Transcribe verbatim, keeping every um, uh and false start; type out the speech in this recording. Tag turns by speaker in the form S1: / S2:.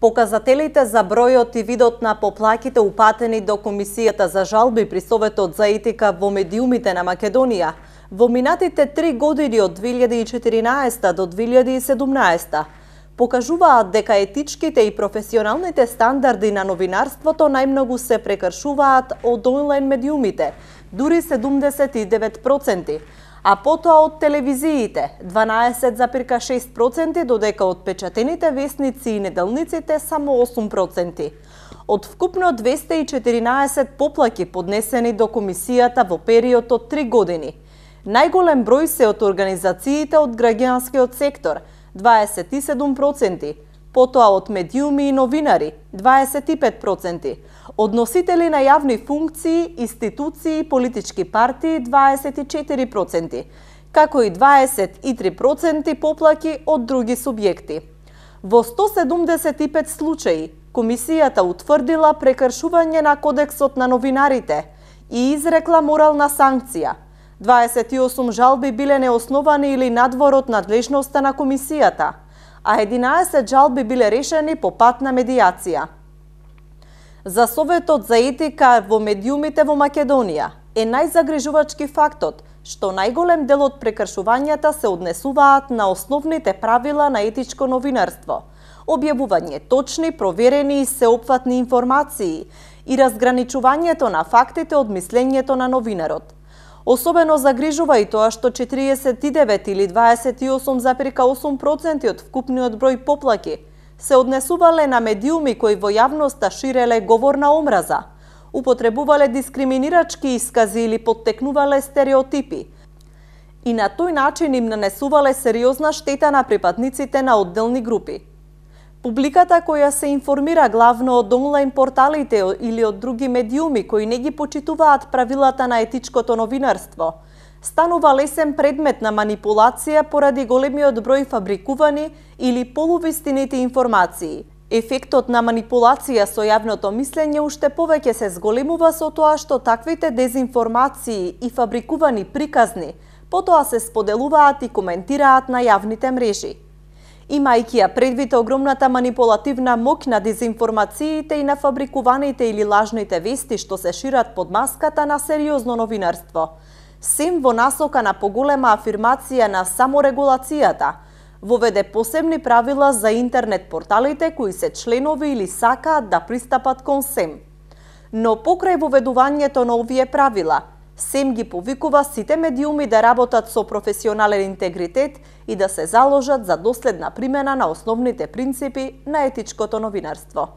S1: Показателите за бројот и видот на поплаките упатени до Комисијата за жалби при Советот за етика во медиумите на Македонија во минатите три години од две илјади и четиринаесета до две илјади и седумнаесета покажуваат дека етичките и професионалните стандарди на новинарството најмногу се прекршуваат од онлайн медиумите, дури седумдесет и девет проценти, а потоа од телевизиите дванаесет зарез шест проценти, додека од печатените весници и неделниците само осум проценти. Од вкупно двесте и четиринаесет поплаки поднесени до Комисијата во период од три години, најголем број се од организациите од граѓанскиот сектор дваесет и седум проценти, потоа од медиуми и новинари дваесет и пет проценти, од носители на јавни функции, институции и политички партии дваесет и четири проценти, како и дваесет и три проценти поплаки од други субјекти. Во сто седумдесет и пет случаи Комисијата утврдила прекршување на Кодексот на новинарите и изрекла морална санкција. дваесет и осум жалби биле неосновани или надвор од надлежноста на Комисијата, а единаесет жалби биле решени по пат на медијација. За Советот за етика во медиумите во Македонија е најзагрижувачки фактот што најголем дел од прекршувањата се однесуваат на основните правила на етичко новинарство, објавување точни, проверени и сеопфатни информации и разграничувањето на фактите од мислењето на новинарот. Особено загрижува и тоа што четириесет и девет или дваесет и осум зарез осум проценти од вкупниот број поплаки се однесувале на медиуми кои во јавноста ширеле говор на омраза, употребувале дискриминирачки искази или поттекнувале стереотипи и на тој начин им нанесувале сериозна штета на припадниците на одделни групи. Публиката која се информира главно од онлайн порталите или од други медиуми кои не ги почитуваат правилата на етичкото новинарство, станува лесен предмет на манипулација поради големиот број фабрикувани или полувистините информации. Ефектот на манипулација со јавното мислење уште повеќе се зголемува со тоа што таквите дезинформации и фабрикувани приказни потоа се споделуваат и коментираат на јавните мрежи. Имајќи ја предвид огромната манипулативна моќ на дезинформациите и на фабрикуваните или лажните вести што се шират под маската на сериозно новинарство, сем во насока на поголема афирмација на саморегулацијата, воведе посебни правила за интернет порталите кои се членови или сакаат да пристапат кон СЕМ. Но покрај воведувањето на овие правила, СЕМ ги повикува сите медиуми да работат со професионален интегритет и да се заложат за доследна примена на основните принципи на етичкото новинарство.